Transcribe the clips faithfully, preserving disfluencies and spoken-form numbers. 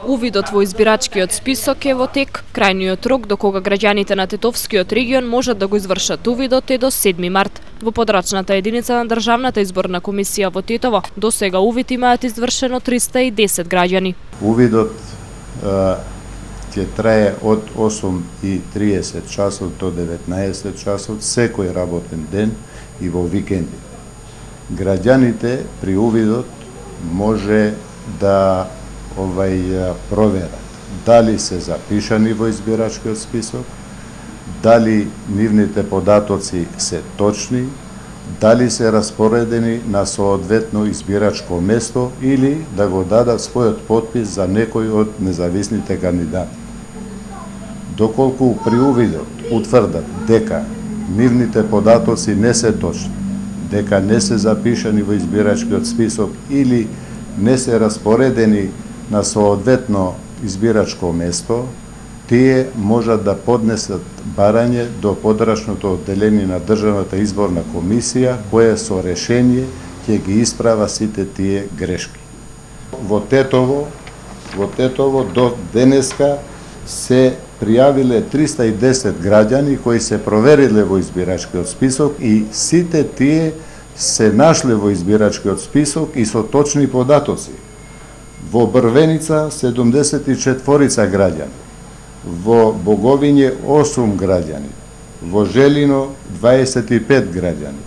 Увидот во избирачкиот список е во тек. Крајниот рок до кога граѓаните на Тетовскиот регион можат да го извршат увидот е до седми март. Во подрачната единица на Државната изборна комисија во Тетово до сега увид имаат извршено триста и десет граѓани. Увидот ќе трае од осум и триесет часот до деветнаесет часот секој работен ден и во викенди. Граѓаните при увидот може да овај проверат дали се запишани во избирачкиот список, дали нивните податоци се точни, дали се распоредени на соодветно избирачко место или да го дадат својот потпис за некој од независните кандидати. Доколку при увидот утврдат дека нивните податоци не се точни, дека не се запишани во избирачкиот список или не се распоредени на соодветно избирачко место, тие можат да поднесат барање до подрачното одделение на Државната изборна комисија, кое со решение ќе ги исправа сите тие грешки. Во Тетово, во Тетово до денеска се пријавиле триста и десет граѓани кои се провериле во избирачкиот список и сите тие се нашле во избирачкиот список и со точни податоци. Во Брвеница седумдесет и четворица граѓани, во Боговиње осум граѓани, во Желино дваесет и пет граѓани,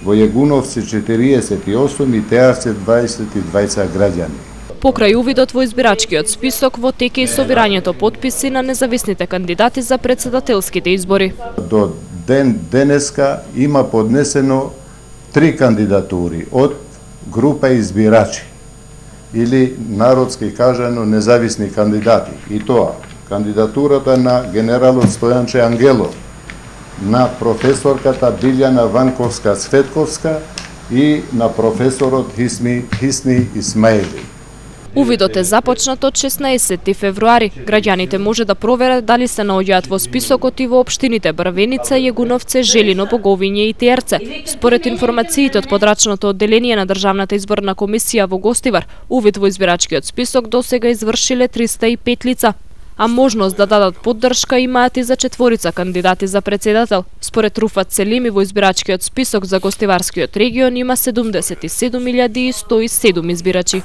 во Јегуновци четириесет и осум и Теарце дваесет и двајца граѓани. Покрај увидот во избирачкиот список во тек е собирањето потписи на независните кандидати за претседателските избори. До ден денеска има поднесено три кандидатури од група избирачи или народски кажано независни кандидати. И тоа кандидатурата на генералот Стојанче Ангелов, на професорката Билјана Ванковска-Цветковска и на професорот Хисми Хисни Исмаили. Увидот е започнат од шеснаесетти февруари. Граѓаните може да проверат дали се наоѓаат во списокот и во општините Брвеница, Јегуновце, Желино, Боговиње и Теарце. Според информациите од подрачното одделение на Државната изборна комисија во Гостивар, увид во избирачкиот список досега извршиле триста и пет лица, а можност да дадат поддршка имаат и за четворица кандидати за претседател. Според Руфат Селими во избирачкиот список за Гостиварскиот регион има седумдесет и седум илјади и сто и седум избирачи.